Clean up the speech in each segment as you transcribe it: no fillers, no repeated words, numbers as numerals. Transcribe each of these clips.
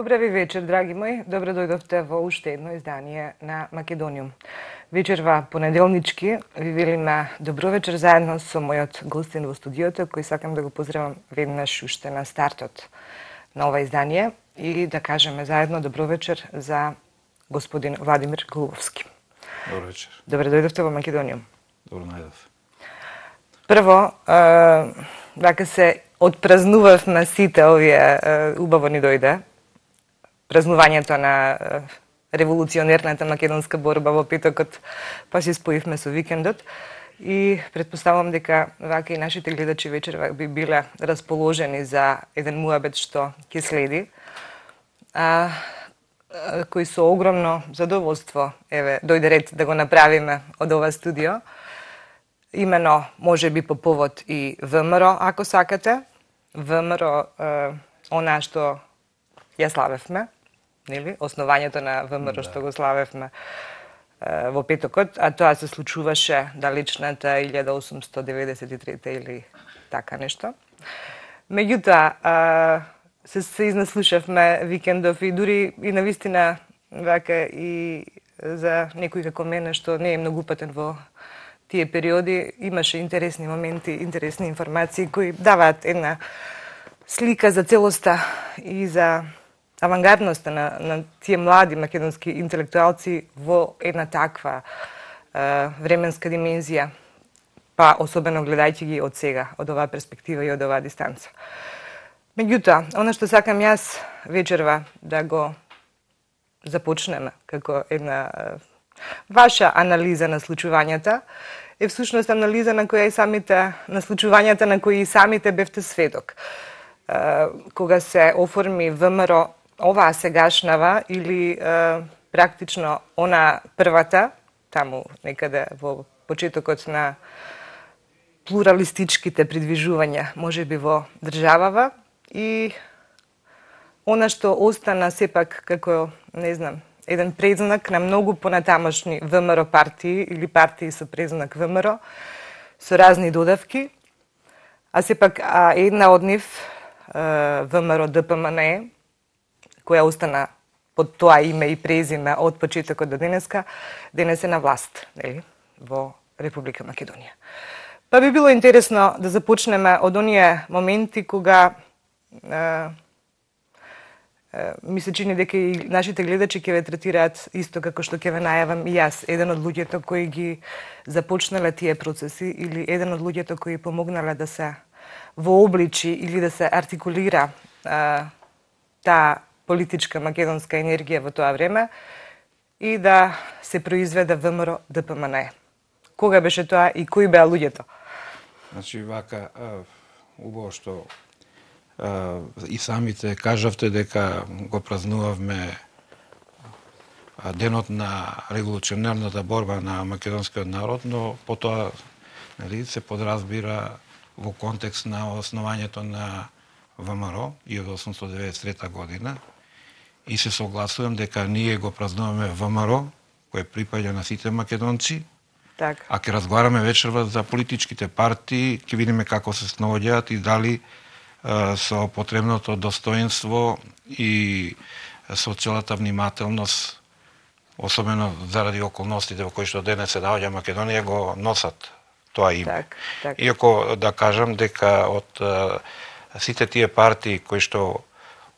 Добра ви вечер, драги мои. Добро дојдовте во уште едно издание на Македониум. Вечерва понеделнички ви велиме добро вечер заедно со мојот гостин во студиото, кој сакам да го поздравам веднаш уште на стартот на ова издание и да кажеме заедно добро вечер за господин Владимир Голубовски. Добро вечер. Добро дојдовте во Македониум. Добро најдов. Прво, вака се отпразнувавме сите овие, убаво ни дојде празнувањето на револуционерната македонска борба во петокот, па се споивме со викендот и предпоставувам дека вака и нашите гледачи вечерва би биле расположени за еден муабет што ќе следи, кој со огромно задоволство дојде ред да го направиме од ова студио. Имено, може би по повод и ВМРО, ако сакате. ВМРО, она што ја славевме, нели? Основањето на ВМРО што го славевме во петокот, а тоа се случуваше далечната 1893 или така нешто. Меѓутоа, се изнаслушавме викендов и дури и навистина вака и за некој како мене што не е многу патен во тие периоди, имаше интересни моменти, интересни информации кои даваат една слика за целоста и за авангардноста на тие млади македонски интелектуалци во една таква временска димензија, па особено гледајќи ги од сега, од оваа перспектива и од оваа дистанца. Меѓутоа, она што сакам јас вечерва да го започнеме како една ваша анализа на случувањата е всушност анализа на која и самите на случувањата на кои и самите бевте сведок. Кога се оформи ВМРО, оваа сегашнава или практично она првата, таму некаде во почетокот на плуралистичките придвижувања, можеби во државава, и она што остана сепак како, не знам, еден предзнак на многу понатамошни ВМРО партии или партии со предзнак ВМРО, со разни додавки, а сепак една од нив, ВМРО ДПМНЕ, која остана под тоа име и презиме од почетокот до денеска, денес е на власт, нели, во Република Македонија. Па би било интересно да започнеме од оние моменти кога ми се чини дека и нашите гледачи ќе ве третираат исто како што ќе ве најавам и јас, еден од луѓето кои ги започнале тие процеси или еден од луѓето кои помогнале да се вообличи или да се артикулира таа политичка македонска енергија во тоа време и да се произведе ВМРО ДПМНЕ. Кога беше тоа и кои беа луѓето? Значи, вака, убаво што и самите кажавте дека го празнувавме денот на револуционерната борба на македонскиот народ, но потоа, нели, се подразбира во контекст на основањето на ВМРО 1893 година и се согласувам дека ние го празнуваме ВМРО, кој припаѓа на сите македонци. Так. А ќе разговараме вечерва за политичките партии, ќе видиме како се снаоѓаат и дали со потребното достоинство и со целата внимателност, особено заради околностите во кои што денес се наоѓа Македонија, го носат тоа име. Так. Иако да кажам дека од сите тие партии кои што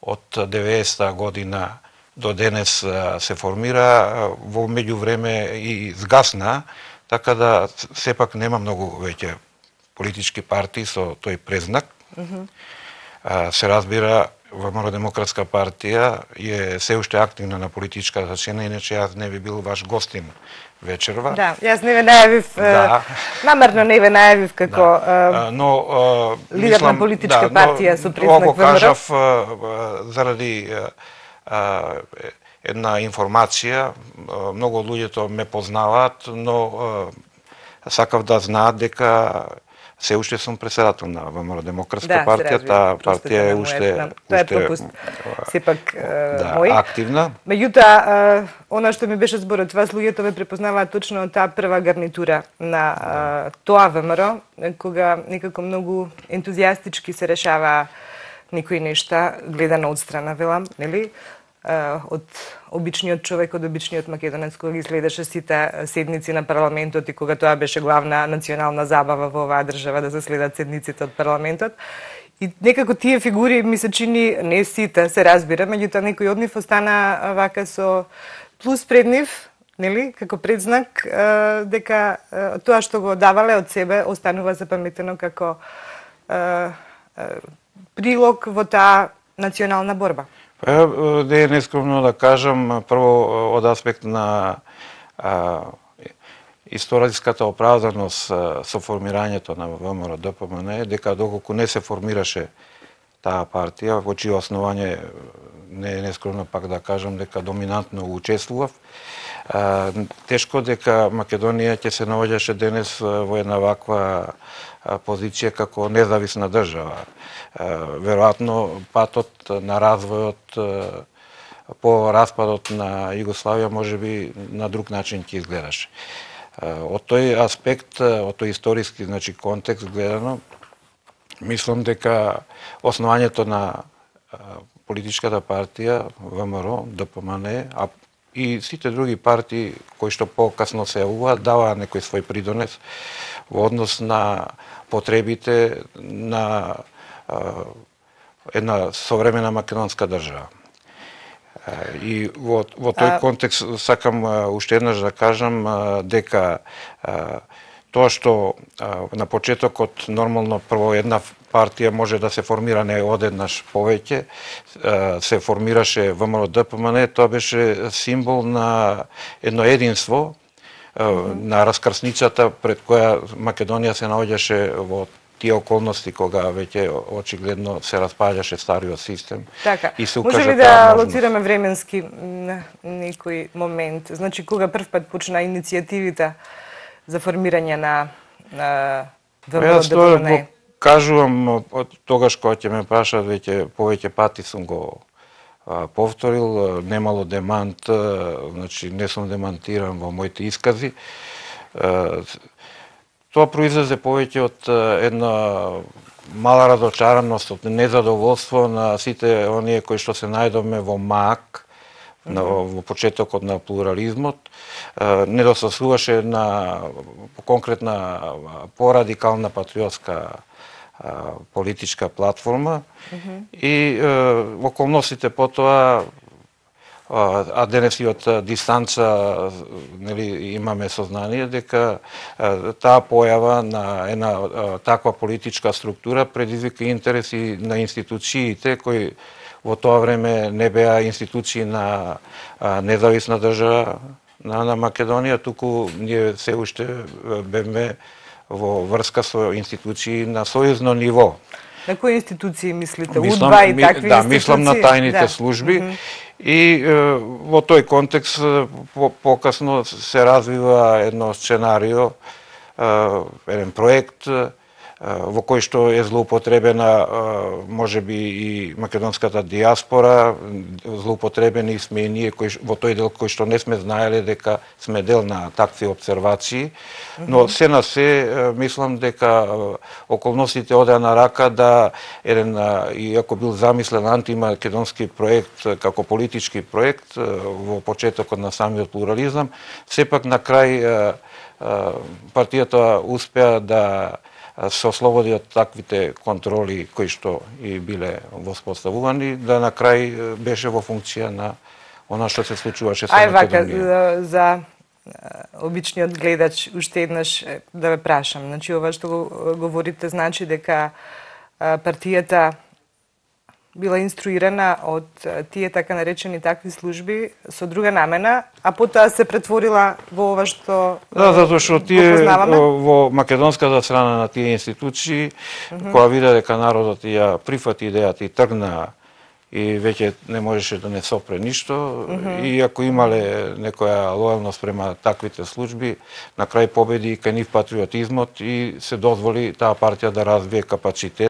од 90-та година до денес се формира, во меѓувреме и згасна, така да сепак нема многу веќе политички партии со тој презнак. Се разбира, ВМРО Демократска партија е се уште активна на политичката сцена, иначе јас не би бил ваш гостин вечерва. Да, јас не ве најавив, намерно не ве најавив како лидер на политичка партија со презнак ВМРО. Ово кажав заради една информација, многу од луѓето ме познаваат, но сакав да знаат дека се уште сум председател на ВМРО Демократска партија, таа партија е уште тоа е пропуст сепак мој активна. Меѓутоа, она што ми беше зборот, вас луѓето ме препознаваат точно од таа прва гарнитура на тоа ВМРО, кога некако многу ентузијастички се решава некои нешта, гледано од страна, велам, нели? од обичниот човек, од обичниот македонец, кога ги следеше сите седници на парламентот и кога тоа беше главна национална забава во оваа држава да се следат седниците од парламентот. И некако тие фигури ми се чини, не сите, се разбира, меѓутоа некој од нив остана вака со плюс пред нив, нели, како предзнак дека тоа што го давале од себе останува запаметено како прилог во таа национална борба. Не е нескромно да кажам, прво од аспект на историската оправданост со формирањето на ВМРО-ДПМН, дека доколку не се формираше таа партија, во чие основање не е нескромно пак да кажам дека доминантно учествував, тешко дека Македонија ќе се наоѓаше денес во една ваква позиција како независна држава. Веројатно патот на развојот по распадот на Југославија можеби на друг начин ќе изгледаше. Од тој аспект, од тој историски контекст гледано, мислам дека основањето на политичката партија ВМРО, ДПМН, а и сите други партии кои што покасно се јавуваат, даваа некој свој придонес во однос на потребите на една современа македонска држава. И во тој контекст сакам уште еднаш да кажам дека тоа што на почетокот нормално прво една партија може да се формира не одеднаш повеќе, се формираше ВМРО-ДПМН, тоа беше символ на едно единство, на раскрсницата пред која Македонија се наоѓаше во тие околности кога веќе очигледно се распаѓаше стариот систем. Така, и се може ли да лоцираме временски некој момент? Значи, кога првпат почна иницијативите за формирање на ВМРО-ДПМН? Кажувам, тогаш кога ќе ме прашаат, веќе повеќе пати сум го повторил, немало демант, значи не сум демантиран во моите искази. Тоа произлезе повеќе од една мала разочараност, од незадоволство на сите оние кои што се најдовме во МАК, во почетокот на плурализмот, недостасуваше на конкретна порадикална патриотска политичка платформа и околностите потоа, а денес и од дистанца нели, имаме сознание дека таа појава на една таква политичка структура предизвика интереси на институциите кои во тоа време не беа институции на независна држава на Македонија, туку ние се уште бевме во врска со институции на сојузно ниво. На кои институции мислите? УДБА и такви институции? Да, мислам на тајните служби. И во тој контекст покасно се развива едно сценарио, еден проект во кој што е злоупотребена можеби и македонската диаспора, злоупотребени сме и ние во тој дел кој што не сме знаеле дека сме дел на такви обсервации, но се на се мислам дека околностите одеа на рака да еден, иако бил замислен антимакедонски проект како политички проект во почетокот на самиот плурализам, сепак на крај партијата успеа да се ослободи од таквите контроли кои што и биле воспоставувани, да на крај беше во функција на она што се случуваше со Македонија. За обичниот гледач уште еднаш да ве прашам. Значи ова што го говорите значи дека партијата била инструирана од тие така наречени такви служби со друга намена, а потоа се претворила во ова што да, затоа што тие во македонската страна на тие институции, кога вида дека народот ја прифати идејата и тргна и веќе не можеше да не сопре ништо, и ако имале некоја лојалност према таквите служби, на крај победи и кај нив патриотизмот и се дозволи таа партија да развие капацитет